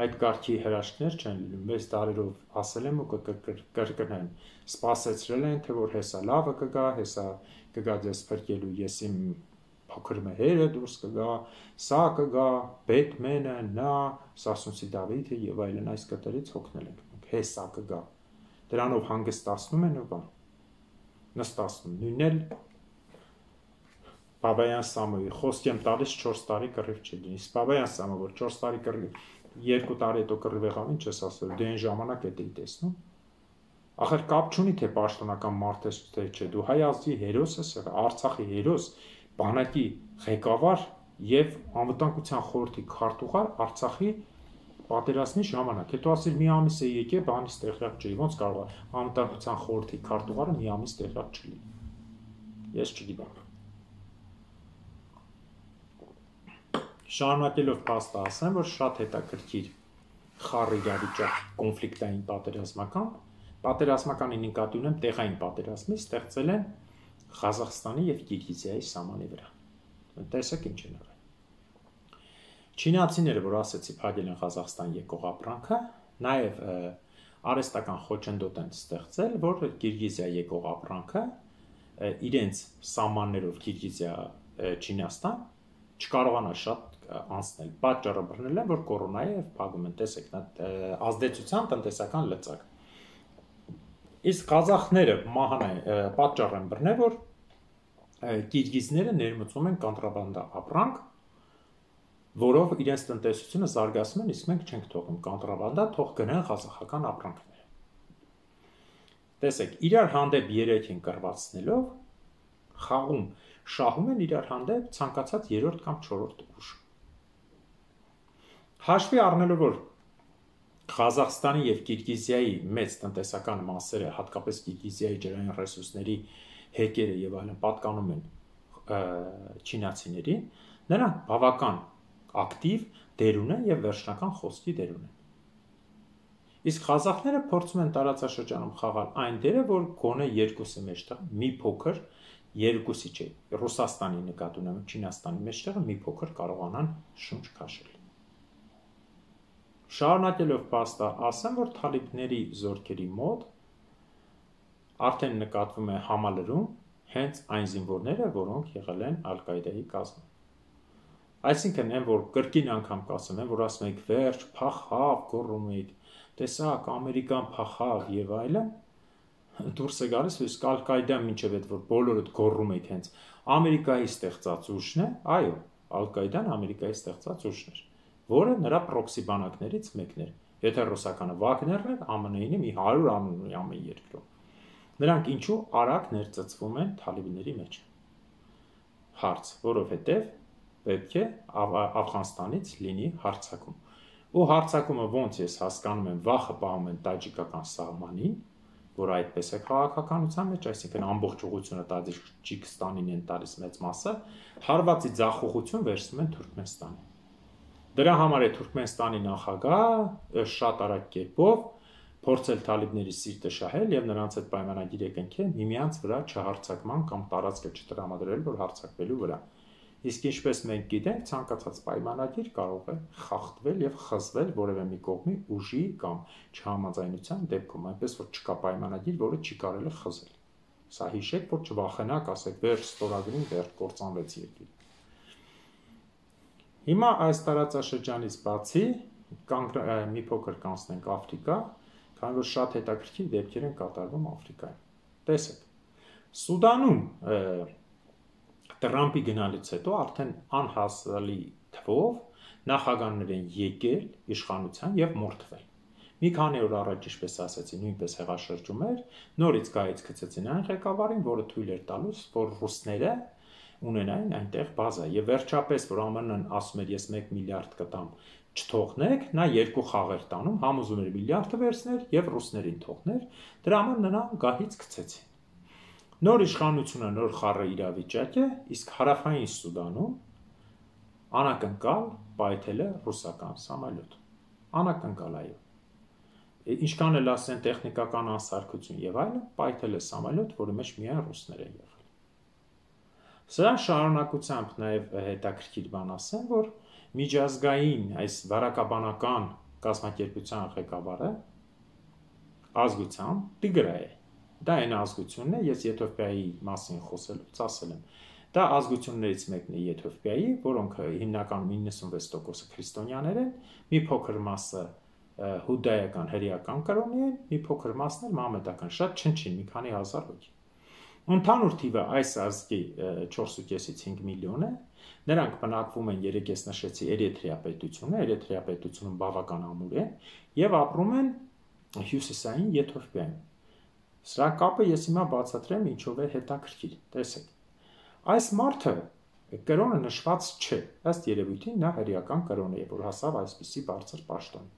այդ կարգի հրաշքներ չեն լինում։ Մեծ տարերով ասել եմ ու կկրկնեմ, սպասեցրել են, թե որ հեսա լավը կգա, հեսա կգա ձեզ փրկելու, ես իմ փոքր մհերը դուրս կգա, սա կգա, Բեթմենը, նա, Սասունցի Դավիթը եւ այլն այս կտերից հոգնել ենք մենք, հեսա կգա։ Դրանով հանգստացնում են ու բան։ Նստացնում, նույնն էլ Բաբայան Սամոյի խոսք եմ տալիս չորս տարի կռիվ չի լինի։ Բաբայան Սամը, որ չորս տարի կռիվ, երկու տարի հետո կռիվ եղավ, ինչ ես ասել, դե այն ժամանակ է դեի տեսնում։ Ախր կապ չունի թե պաշտոնական մարդ ես թե չէ, դու հայ ազգի հերոս ես եղել, Արցախի հերոս, բանակի ղեկավար եւ անվտանգության խորհրդի քարտուղար Արցախի պատերազմի ժամանակ։ Հետո ասել մի ամիս է եկե, բանից տեղյակ չէի, ոնց կարող է անվտանգության խորհրդի քարտուղարը մի ամիս տեղյակ չլինի։ Ես չգիտեմ։ Շարունակելով փաստը ասեմ, որ շատ հետաքրքիր խառ իրավիճակ կոնֆլիկտային պատերազմական, պատերազմականի նկատի ունեմ տեղային պատերազմի ստեղծել են Ղազախստանի եւ Կիրգիզիայի սահմանի վրա։ Տեսեք ինչ են արել։ Չինացիները, որ ասեցի, փակել են Ղազախստան եկող ապրանքը, նաեւ արհեստական խոչընդոտ են ստեղծել, որ Կիրգիզիա եկող ապրանքը իրենց սահմաններով Կիրգիզիա Չինաստան չկարողանա շատ անցնել, պատճառը բռնել են, որ կորոնայի եւ փակում են, տեսեք, ազդեցության տնտեսական լծակ։ Իսկ ղազախները մահան պատճառ են բռնել, որ կիրգիզները ներմուծում են կոնտրաբանդա ապրանք, որով իրենց տնտեսությունը զարգացնում են, իսկ մենք չենք թողնում կոնտրաբանդա, թող գնան ղազախական ապրանքները։ Տեսեք, իրար հանդեպ երեք են կռվածնելով, խաղում, շահում են իրար հանդեպ ցանկացած երրորդ կամ չորրորդ ուժ։ Հաշվի առնելով, որ Ղազախստանի եւ Կիրգիզիայի մեծ տնտեսական մասերը, հատկապես Կիրգիզիայի ջրային ռեսուրսների հեկերը եւ այլն պատկանում են չինացիներին, նրանք բավական ակտիվ դեր ունեն եւ վերջնական խոսքի դեր ունեն։ Իսկ ղազախները փորձում են տարածաշրջանում խաղալ այն դերը, որ գոնե երկուսի մեջտեղ մի փոքր, երկուսի չէ, Ռուսաստանի նկատի ունեմ, Չինաստանի մեջտեղը մի փոքր կարողանան շունչ քաշել։ Շարունակելով փաստը ասեմ, որ թալիբների զորքերի մոտ արդեն նկատվում է համալրում հենց այն զինվորները, որոնք եղել են Ալ-Կաիդայի կազմում։ Այսինքն են, որ կրկին անգամ կասեմ, որ ասում եք վերջ, փախավ, գոռում եք, տեսակ, Ամերիկան փախավ եւ այլն, դուրս է գալիս, իսկ Ալ-Կաիդան մինչև այդ որ բոլորդ գոռում եք հենց Ամերիկայի ստեղծած ուժն է, այո, Ալ-Կաիդան Ամերիկայի ստեղծած ուժն էր, որը նրա պրոքսի բանակներից մեկն էր։ Եթե ռուսականը Վագներն էր, ԱՄՆ-ին մի հարյուր ամեն երկրում։ Նրանք ինչու արագ ներծծվում են թալիբների մեջ։ Հարց, որովհետև պետք է Աֆղանստանից լինի հարձակում։ Ու հարձակումը ոնց ես հասկանում եմ, վախը պահում են տաջիկական սահմանին, որ այդպես է քաղաքականության մեջ, այսինքն ամբողջ ուղղությունը Տաջիկստանին են տալիս մեծ մասը, հարվածի ձախողություն վերցնում են Թուրքմենստանին։ Դրա համար է Թուրքմենստանի նախագահ շատ արագ կերպով փորձել թալիբների սիրտը շահել եւ նրանց հետ պայմանագիր է կնքել միմյանց վրա չհարձակման կամ տարածքը չտրամադրել, որ հարձակվելու վրա։ Իսկ ինչպես մենք գիտենք, ցանկացած պայմանագիր կարող է խախտվել եւ խզվել որևէ մի կողմի ուժի կամ չհամաձայնության դեպքում, այնպես որ չկա պայմանագիր, որը չի կարելի խզել։ Սա հիշեք, որ չվախենաք, ասեք, վերջ ստորագրին, վերջ կործանվեց երկիր։ Հիմա այս տարածաշրջանից բացի մի փոքր կանցնենք Աֆրիկա, քանի որ շատ հետաքրքիր դեպքեր են կատարվում Աֆրիկայում։ Տեսեք, Սուդանում Տրամպի գնալուց հետո արդեն անհասալի թվով նախագահներ են եկել իշխանության եւ մորթվել։ Մի քանի օր առաջ, ինչպես ասացի, նույնպես հեղաշրջում էր, նորից գայից գցեցին այն ղեկավարին, որը թույլ էր տալուս, որ ռուսները ունենային այնտեղ բազա, եւ վերջապես, որ ԱՄՆ-ն ասում էր, ես մեկ միլիարդ կտամ, չթողնեք, նա երկու խաղ էր տանում, համ ուզում էր միլիարդը վերցներ եւ ռուսներին թողներ, դրա համար նրան գահից գցեցին։ Նոր իշխանությունը նոր խառը իրավիճակ է, իսկ հարավային Սուդանում անակնկալ պայթել է ռուսական սամոլյոտ։ Անակնկալ, այո։ Ինչքան էլ ասեն տեխնիկական անսարքություն եւ այլն, պայթել է սամոլյոտ, որի մեջ միայն ռուսներ են եղել։ Սրա շարունակությամբ նաեւ հետաքրքիր բան ասեմ, որ միջազգային այս վարակաբանական կազմակերպության ղեկավարը ազգությամբ Տիգրայ է։ Դա այն ազգությունն է, ես Եթովպիայի մասին խոսելուց ասել եմ։ Դա ազգություններից մեկն է Եթովպիայի, որոնք հիմնականում իննսունվեց տոկոսը քրիստոնյաներ են, մի փոքր մասը հուդայական հրեական կրոնի են, մի փոքր մասն էլ մահմեդական, շատ չնչին, մի քանի հազար հոգի։ Ընդհանուր թիվը այս ազգի չորս ու կեսից հինգ միլիոն է, նրանք բնակվում են, երեք ես նշեցի, Էրիթրեա պետությունը, Էրիթրեա պետությունում բավական ամուր են եւ ապրում են հյուսիսային Եթովպիայում։ Սրա կապը ես հիմա բացատրեմ ինչով է հետաքրքիր, տեսեք։ Այս մարդը կրոնը նշված չէ, ըստ երևույթին նա հրեական կրոն է, որ հասավ այսպիսի բարձր պաշտոն։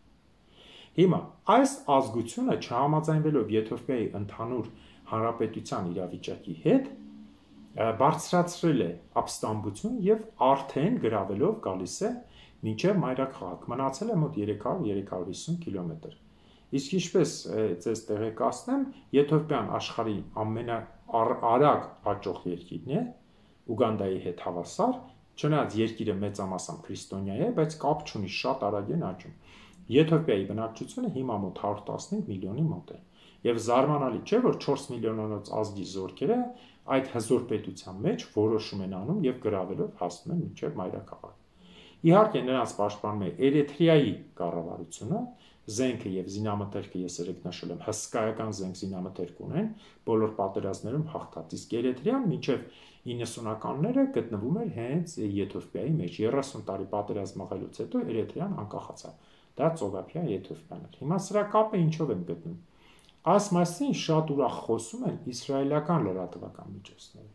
Հիմա այս ազգությունը չհամաձայնվելով Եթովպիայի ընդհանուր հանրապետության իրավիճակի հետ, բարձրացրել է ապստամբություն եւ արդեն գրավելով գալիս է մինչեւ մայրաքաղաք, մնացել է մոտ երեք հարյուր երեք հարյուր հիսուն կիլոմետր։ Իսկ ինչպես ձեզ տեղեկացնեմ, Եթովպիան աշխարհի ամենաարագ աճող երկիրն է, Ուգանդայի հետ հավասար, չնայած երկիրը մեծամասամբ քրիստոնյա է, բայց կապ չունի, շատ արագ են աճում։ Եթովպիայի բնակչությունը հիմա մոտ հարյուր տասնհինգ միլիոնի մոտ է։ Եվ զարմանալի չէ, որ չորս միլիոնանոց ազգի զորքերը այդ հզոր պետության մեջ որոշում են անում եւ գրավելով հասնում են մինչեւ մայրաքաղաք։ Իհարկե նրանց պաշտպանում է Էրիթրեայի կառավարությունը, զենքը եւ զինամթերքը ես երեք նշել եմ, հսկայական զենք զինամթերք ունեն, բոլոր պատերազմներում հաղթած, իսկ Էրիթրեան մինչեւ իննսունականները գտնվում էր հենց Եթովպիայի մեջ, երեսուն տարի պատերազմ մղելուց հետո Էրիթրեան անկախացավ։ Դա ծովափիա Եթովպիան էր։ Հիմա սրա կապը ինչով են գտնում։ Այս մասին շատ ուրախ խոսում են իսրայելական լրատվական միջոցները։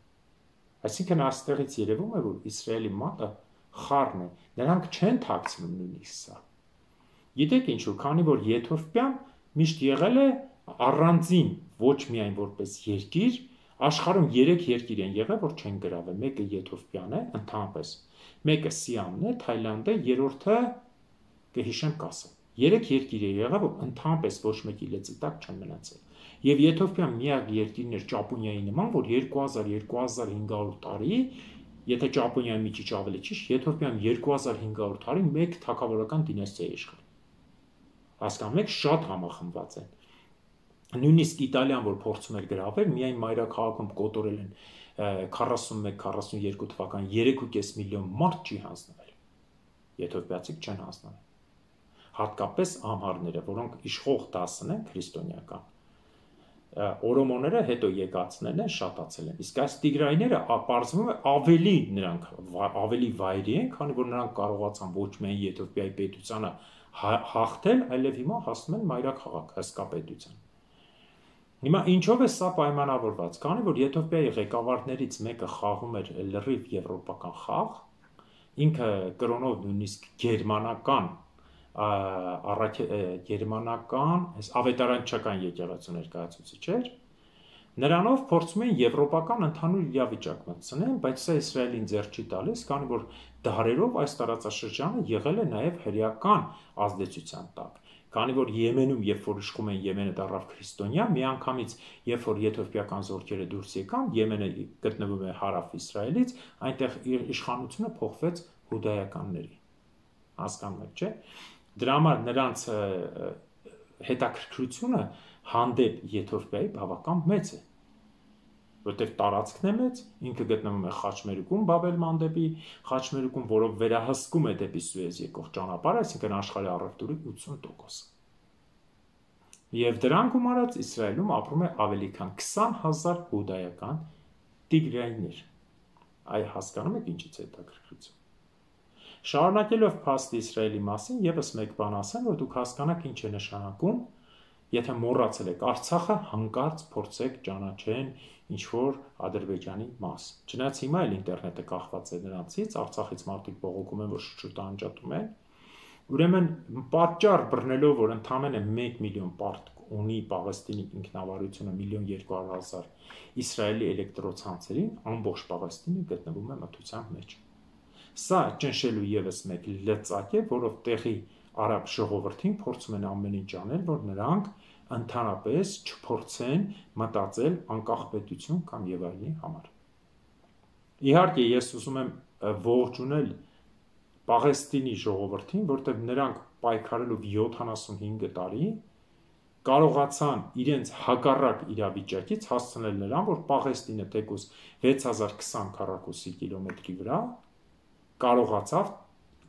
Այսինքն այստեղից երևում է, որ Իսրայելի մատը խառն է, նրանք չեն թաքցնում նույնիսկ սա։ Գիտեք ինչու, քանի որ Եթովպիան միշտ եղել է առանձին, ոչ միայն որպես երկիր, աշխարհում երեք երկիր են եղել, որ չեն գրավել, մեկը Եթովպիան է, ընդհանրապես, մեկը Սիամն է, Թայլանդը, երրորդը կհիշեմ կասեմ։ Երեք երկիր է եղել, որ ընդհանրապես ոչ մեկի լեզվի տակ չեն մնացել։ Եվ Եթովպիան միակ երկիրն էր Ճապոնիայի նման, որ երկու հազար - երկու հազար հինգ հարյուր տարի, եթե Ճապոնիայի մի քիչ ավելի ճիշտ, Եթովպիան երկու հազար հինգ հարյուր տարի մեկ թագավորական դինաստիա է իշխել։ Հասկանում եք, շատ համախմբված են։ Նույնիսկ Իտալիան, որ փորձում էր գրավել, միայն մայրաքաղաքում կոտորել են քառասունմեկ քառասունյոթ թվական երեք ու կես միլիոն մարդ չի հանձնվել։ Եթովպիացիք չեն հանձնվել։ Հատկապես ամհարները, որոնք իշխող դասն են քրիստոնեական։ Օրոմոները հետո եկածներն են, շատացել են։ Իսկ այս տիգրայները պարզվում է ավելի նրանք ավելի վայրի են, քանի որ նրանք կարողացան ոչ միայն Եթովպիայի պետությանը հաղթել, այլև հիմա հասնում են մայրաքաղաք հսկա պետության։ Հիմա ինչով է սա պայմանավորված, քանի որ Եթովպիայի ղեկավարներից մեկը խաղում էր լրիվ եվրոպական խաղ, ինքը կրոնով նույնիսկ գերմանական առաջ գերմանական ավետարանչական եկեղեցու ներկայացուցիչ էր, նրանով փորձում են եվրոպական ընդհանուր իրավիճակ մտցնել, բայց սա Իսրայելին ձեռ չի տալիս, քանի որ դարերով այս տարածաշրջանը եղել է նաև հրեական ազդեցության տակ, քանի որ Եմենում, երբ որ իշխում են Եմենը դառավ քրիստոնյա, միանգամից երբ որ եթովպիական զորքերը դուրս եկան, Եմենը գտնվում է հարավ Իսրայելից, այնտեղ իշխանությունը փոխվեց հուդայականների։ Հասկանում եք, չէ՞։ Դրա համար նրանց հետաքրքրությունը հանդեպ Եթովպիայի բավական մեծ է, որտեղ տարածքն է մեծ, ինքը գտնվում է Խաչմերուկում, Բաբել Մանդեբի Խաչմերուկում, որով վերահսկում է դեպի Սուեզ եկող ճանապարհը, այսինքն աշխարհի առևտուրի ութսուն տոկոսը։ Եվ դրան գումարած Իսրայելում ապրում է ավելի քան քսան հազար հուդայական տիգրայիններ։ Այ հասկանում եք ինչից է հետաքրքրություն։ Շարունակելով փաստը Իսրայելի մասին, եւս մեկ բան ասեմ, որ դուք հասկանաք ինչ է նշանակում, եթե մոռացել եք Արցախը, հանկարծ փորձեք ճանաչեն ինչ որ Ադրբեջանի մաս։ Չնայած հիմա էլ ինտերնետը կախված է նրանցից, Արցախից մարդիկ բողոքում են, որ շուտ անջատում են։ Ուրեմն պատճառ բռնելով, որ ընդամենը մեկ միլիոն պարտ ունի Պաղեստինի ինքնավարությունը միլիոն երկու հարյուր հազար Իսրայելի էլեկտրոցանցերին, ամբողջ Պաղեստինը գտնվում է մթության մեջ։ Սա ճնշելու եւս մեկ լծակ է, որով տեղի արաբ ժողովրդին փորձում են ամեն ինչ անել, որ նրանք ընդհանրապես չփորձեն մտածել անկախ պետություն կամ եւ այլնի համար։ Իհարկե, ես ուզում եմ ողջունել Պաղեստինի ժողովրդին, որտեղ նրանք պայքարելով յոթանասունհինգ տարի կարողացան իրենց հակառակ իրավիճակից հասցնել նրան, որ Պաղեստինը թեկուզ վեց հազար քսան քառակուսի կիլոմետրի վրա կարողացավ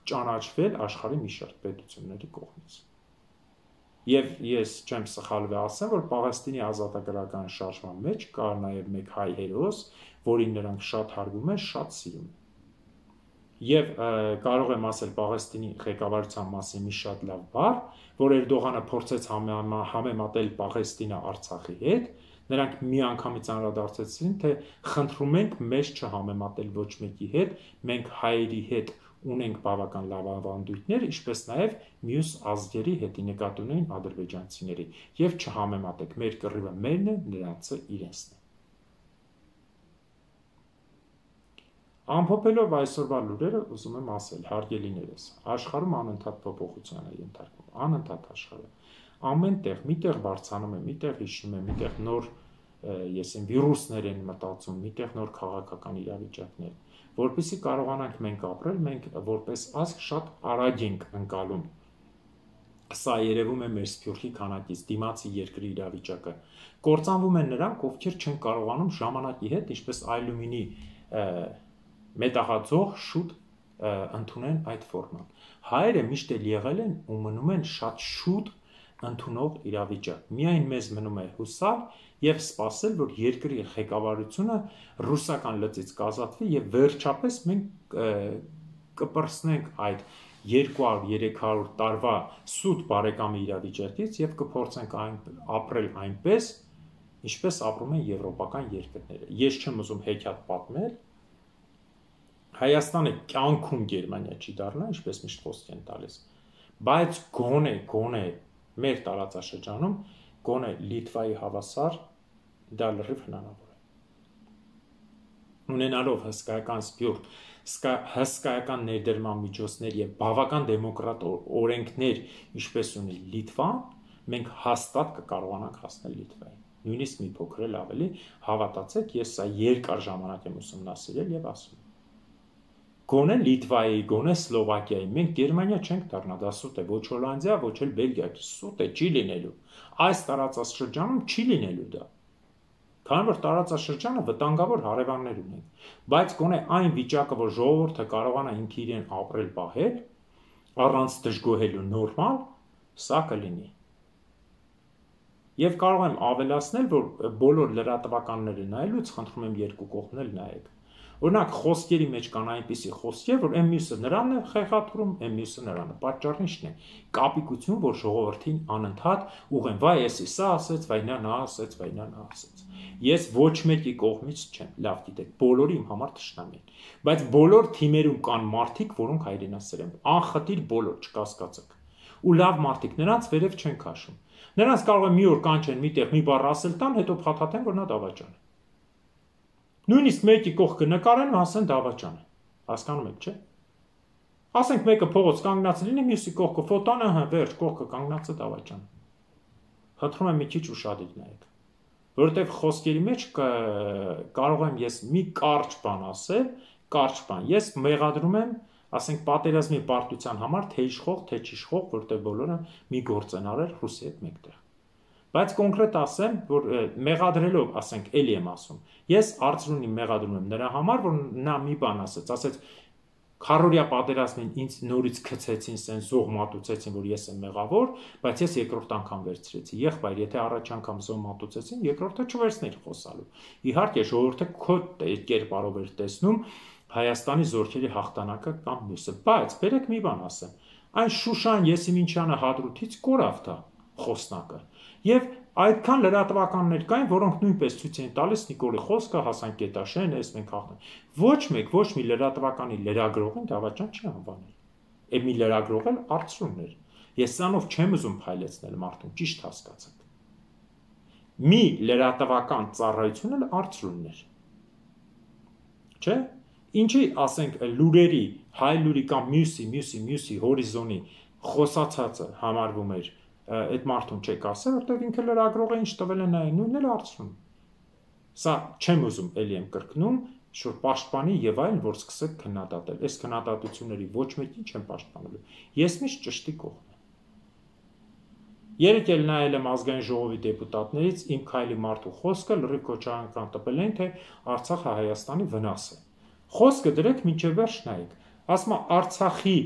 ճանաչվել աշխարհի մի շարք պետությունների կողմից։ Եվ ես չեմ սխալվի ասեմ, որ Պաղեստինի ազատագրական շարժման մեջ կա նաև մեկ հայ հերոս, որին նրանք շատ հարգում են, շատ սիրում են։ Եվ կարող եմ ասել Պաղեստինի ղեկավարության մասին մի շատ լավ բառ, որ Էրդողանը փորձեց համեմատել Պաղեստինը Արցախի հետ, նրանք միանգամից անդրադարձեցին, թե խնդրում ենք մեզ չհամեմատել ոչ մեկի հետ, մենք հայերի հետ ունենք բավական լավ ավանդույթներ, ինչպես նաև մյուս ազգերի հետ, նկատի ունեն ադրբեջանցիների, եւ չհամեմատեք, մեր կռիվը մերն է, նրանցը իրենցն է։ Ամփոփելով այսօրվա լուրերը, ուզում եմ ասել, հարգելիներս, աշխարհում անընդհատ փոփոխության է ենթարկվում, անընդհատ աշխարհը։ Ամեն տեղ, միտեղ բարձրանում է, միտեղ հիշում է, միտեղ նոր եսին վիրուսներ են մտածում, միտեղ նոր քաղաքական իրավիճակներ, որպեսզի կարողանանք մենք ապրել, մենք որպես ազգ շատ արագ ենք ընկալում։ Սա երևում է մեր Սփյուռքի քանակից, դիմացի երկրի իրավիճակը։ Կործանվում են նրանք, ովքեր չեն կարողանում ժամանակի հետ, ինչպես Այլումինի մետաղաձող շուտ ընդունեն այդ ֆորման։ Հայերը միշտ էլ եղել են ու մնում են շատ շուտ ընդունող իրավիճակ։ Միայն մեզ մնում է հուսալ եւ սպասել, որ երկրի ղեկավարությունը ռուսական լծից կազատվի եւ վերջապես մենք կպրսնենք այդ երկու հարյուր երեք հարյուր տարվա սուտ բարեկամի իրավիճակից եւ կփորձենք այն ապրել այնպես, ինչպես ապրում են եվրոպական երկրները։ Ես չեմ ուզում հեքիաթ պատմել, Հայաստանը կյանքում Գերմանիա չի դառնա, ինչպես միշտ խոսք են տալիս, բայց գոնե, գոնե մեր տարածաշրջանում, գոնե Լիտվայի հավասար դա լրիվ հնարավոր է։ Ունենալով հսկայական սփյուռք, հսկայական ներդրման միջոցներ եւ բավական դեմոկրատ օրենքներ, ինչպես ունի Լիտվան, մենք հաստատ կկարողանանք հասնել Լիտվային։ Նույնիսկ մի փոքր էլ ավելի, հավատացեք, ես սա երկար ժամանակ եմ ուսումնասիրել եւ ասում։ Գոնե Լիտվայի, գոնե Սլովակիայի, մենք Գերմանիա չենք դառնա, դա սուտ է, ոչ Հոլանդիա, ոչ էլ Բելգիա, սուտ է, չի լինելու։ Այս տարածաշրջանում չի լինելու դա։ Քանի որ տարածաշրջանը վտանգավոր հարևաններ ունենք, բայց գոնե այն վիճակը, որ ժողովուրդը կարողանա ինքը իրեն ապրել պահել, առանց դժգոհելու նորմալ, սա կլինի։ Եվ կարող եմ ավելացնել, որ բոլոր լրատվականները նայելուց խնդրում եմ երկու կողմն էլ նայեք։ Օրինակ խոսքերի մեջ կան այնպիսի խոսքեր, որ այն մյուսը նրան է խեղաթուրում, այն մյուսը նրան է։ Պատճառն ի՞նչն է։ Կապիկություն, որ ժողովրդին անընդհատ ուղեն, վայ, էսի սա ասեց, վայ նա նա ասեց, վայ նա նա ասեց։ Ես ոչ մեկի կողմից չեմ, լավ գիտեք, բոլորը իմ համար թշնամի են։ Բայց բոլոր թիմերում կան մարդիկ, որոնք հայրենասեր են, անխտիր բոլոր, չկասկածեք։ Ու լավ մարդիկ, նրանց վերև չեն քաշում։ Նրանց կարող է մի օր կանչեն միտեղ մի բառ ասել տան, հետո փաթաթեն, որ նա դավաճան է։ Նույնիսկ մեկի կողքը նկարեն ու ասեն դավաճան է։ Հասկանում եք, չէ՞։ Ասենք մեկը փողոց կանգնած լինի, մյուսի կողքը ֆոտոն, ահա, վերջ, կողքը կանգնածը դավաճան։ Խնդրում եմ մի քիչ ուշադիր նայեք, որովհետև խոսքերի մեջ կարող եմ ես մի կարճ բան ասել, կարճ բան։ Ես մեղադրում եմ, ասենք պատերազմի պարտության համար թե իշխող, թե չիշխող, որտեղ բոլորը մի գործ են արել Ռուսի հետ մեկտեղ։ Բայց կոնկրետ ասեմ, որ մեղադրելով, ասենք, էլի եմ ասում, ես Արծրունին մեղադրում եմ նրա համար, որ նա մի բան ասեց, ասեց քառօրյա պատերազմին ինձ նորից գցեցին, սեն զոհ մատուցեցին, որ ես եմ մեղավոր, բայց ես երկրորդ անգամ վերցրեցի։ Եղբայր, եթե առաջ անգամ զոհ մատուցեցին, երկրորդը չվերցնեի խոսալու։ Իհարկե, ժողովուրդը քո կերպարով էր տեսնում Հայաստանի զորքերի հաղթանակը կամ մյուսը, բայց բերեք մի բան ասեմ, այն Շուշան Եսիմինչյանը Հադրութից կորավ դա խոսնակը։ Եվ այդքան լրատվականներ կային, որոնք նույնպես ցույց էին տալիս Նիկոլի խոսքը, Հասան Գետաշեն, ես մենք հաղթանք։ Ոչ մեկ, ոչ մի լրատվականի լրագրողին դավաճան չի անվանել։ Է մի լրագրող էլ Արծրունն էր։ Ես սրանով չեմ ուզում փայլեցնել մարդուն, ճիշտ հասկացեք։ Մի լրատվական ծառայություն էլ Արծրունն էր։ Չէ՞։ Ինչի, ասենք, լուրերի, հայ լուրի կամ մյուսի, մյուսի, մյուսի հորիզոնի խոսացածը համարվում էր այդ մարդուն չեք ասել, որտեղ ինքը լրագրող է ինչ տվել է նայեն, նույնն էլ Արծրուն։ Սա չեմ ուզում, էլի եմ կրկնում, շուտ պաշտպանի եւ այլն, որ սկսեք քննադատել։ Այս քննադատությունների ոչ մեկին չեմ պաշտպանելու։ Ես միշտ ճշտի կողմ եմ։ Երեք էլ նայել եմ ազգային ժողովի դեպուտատներից իմ քայլի մարդու խոսքը լրիվ քոչարական տպել են, թե Արցախը Հայաստանի վնաս է։ Խոսքը դրեք մինչև վերջ նայեք։ Ասում եմ Արցախի,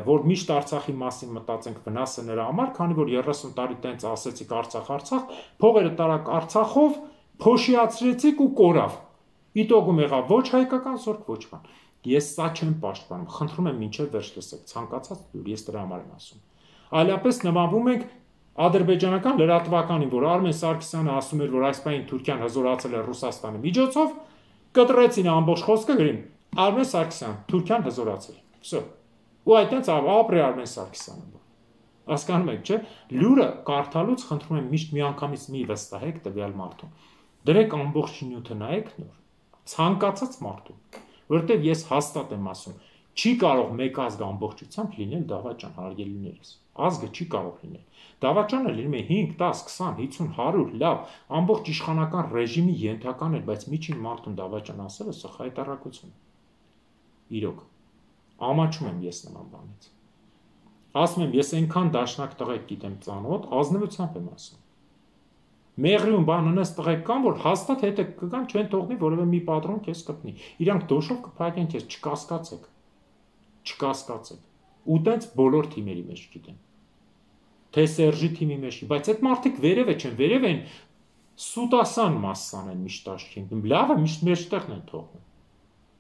որ միշտ Արցախի մասին մտածենք վնասը նրա համար, քանի որ երեսուն տարի տենց ասեցիք Արցախ, Արցախ, փողերը տարակ Արցախով, փոշիացրեցիք ու կորավ։ Իտոգում եղավ ոչ հայկական զորք, ոչ բան։ Ես սա չեմ պաշտպանում, խնդրում եմ մինչև վերջ լսեք, ցանկացած լուր, ես դրա համար եմ ասում։ Այլապես նմանվում ենք ադրբեջանական լրատվականին, որ Արմեն Սարգսյանը ասում էր, որ այս պահին Թուրքիան հզորացել է Ռուսաստանի միջոցով, կտրեցին ամբողջ խոսքը գրին Արմեն Սարգսյան, Թուրքիան հզորացել։ Վсё։ Ու այդտենց ապրի Արմեն Սարգսյանը։ Հասկանում եք, չէ՞։ Լուրը կարդալուց խնդրում եմ միշտ միանգամից մի վստահեք տվյալ մարդուն։ Դրեք ամբողջ նյութը նայեք նոր։ Ցանկացած մարդու, որովհետև ես հաստատ եմ ասում, չի կարող մեկ ազգ ամբողջությամբ լինել դավաճան, հարգելիներս։ Ազգը չի կարող լինել։ Դավաճանը լինում է հինգ, դաս, քսան, հիսուն, հարյուր, լավ, ամբողջ իշխանական ռեժիմի ենթական է, բայց միջին մարդուն դավաճան ասելը սա խայտառակություն է։ Իրոք, ամաչում եմ ես նման բանից։ Ասում եմ, ես այնքան դաշնակ տղեկ գիտեմ ծանոթ, ազնվությամբ եմ ասում։ Մեղրիում բան ունես տղեկ կան, որ հաստատ հետը կգան, չեն թողնի որևէ մի պատրոն քեզ կպնի։ Իրանք դոշով կփակեն քեզ, չկասկածեք։ Չկասկածեք։ Ու տենց բոլոր թիմերի մեջ գիտեմ։ Թե Սերժի թիմի մեջ, բայց այդ մարդիկ վերև չեն, վերև են սուտասան մասսան են միշտ աշխին։ Լավը միշտ մեջտեղն են թողնում։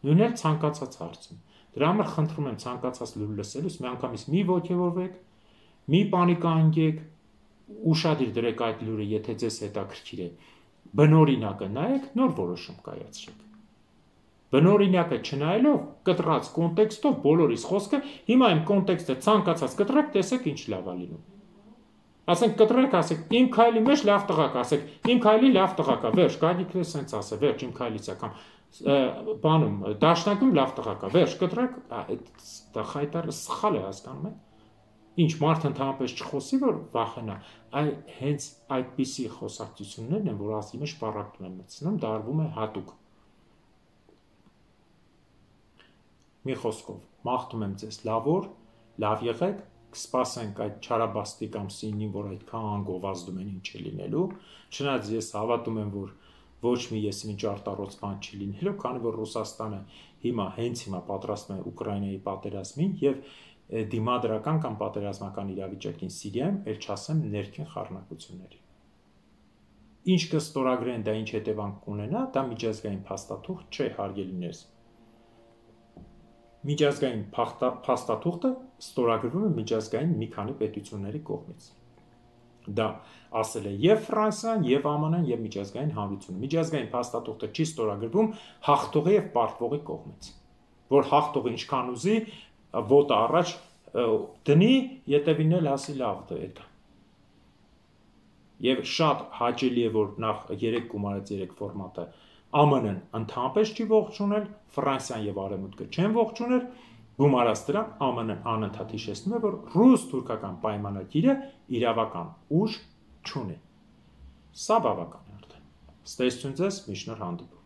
Նույնն էլ ցանկացած հարցում։ Դրա համար խնդրում եմ ցանկացած լուր լսելուց միանգամից մի ոգևորվեք, մի պանիկայինգեք, ուշադիր դրեք այդ լուրը, եթե ձեզ հետաքրքիր է։ Բնօրինակը նայեք, նոր որոշում կայացրեք։ Բնօրինակը չնայելով, կտրած կոնտեքստով բոլորիս խոսքը, հիմա իմ կոնտեքստը ցանկացած կտրեք, տեսեք ինչ լավ է լինում։ Ասենք կտրեք, ասեք, իմ քայլի մեջ լավ տղակ, ասեք, իմ քայլի լավ տղակ է, վերջ, Գագիկը սենց ասե, վերջ, իմ քայլից է կամ բանում, դաշնակում լավ տղակ է, վերջ, կտրեք, դա խայտարը սխալ է, հասկանում եք։ Ինչ մարդ ընդհանրապես չխոսի, որ վախենա, այ հենց այդպիսի խոսակցություններն են, որ ասի մեջ պարակտում են մտցնում, դարվում է հատուկ։ Մի խոսքով, մաղթում եմ ձեզ լավ օր, լավ եղեք, կսպասենք այդ չարաբաստիկ ամսինին, որ այդքան գովազդում են ինչ է լինելու, չնայած ես հավատում եմ, որ ոչ մի եսիմինչ արտառոց բան չի լինելու, քանի որ Ռուսաստանը հիմա հենց հիմա պատրաստվում է Ուկրաինայի պատերազմին եւ դիմադրական կամ պատերազմական իրավիճակին Սիրիայում, ել չասեմ ներքին խառնակությունների։ Ինչ կստորագրեն, դա ինչ հետևանք կունենա, դա միջազգային փաստաթուղթ չէ, հարգելիներս։ Միջազգային փաստաթուղթը ստորագրվում է միջազգային մի քանի պետությունների կողմից։ Դա ասել է եւ Ֆրանսիան, եւ Α Մ Ն-ն, եւ միջազգային հանրությունը։ Միջազգային փաստաթուղթը չի ստորագրվում հաղթողի եւ պարտվողի կողմից, որ հաղթողը ինչքան ուզի ոտը առաջ դնի, ետևին էլ ասի լավ դա։ Եվ շատ հաճելի է, որ նախ երեք գումարած երեք ֆորմատը Α M N-ն ընդհանրապես չի ողջունել, Ֆրանսիան եւ Արևմուտքը չեն ողջունել, գումարած դրան Α M N-ն անընդհատ հիշեցնում է, որ ռուս-թուրքական պայմանագիրը իրավական ուժ չունի։ Սա բավական է արդեն։ Ստեսություն ձեզ, մի շնորհ հանդիպում։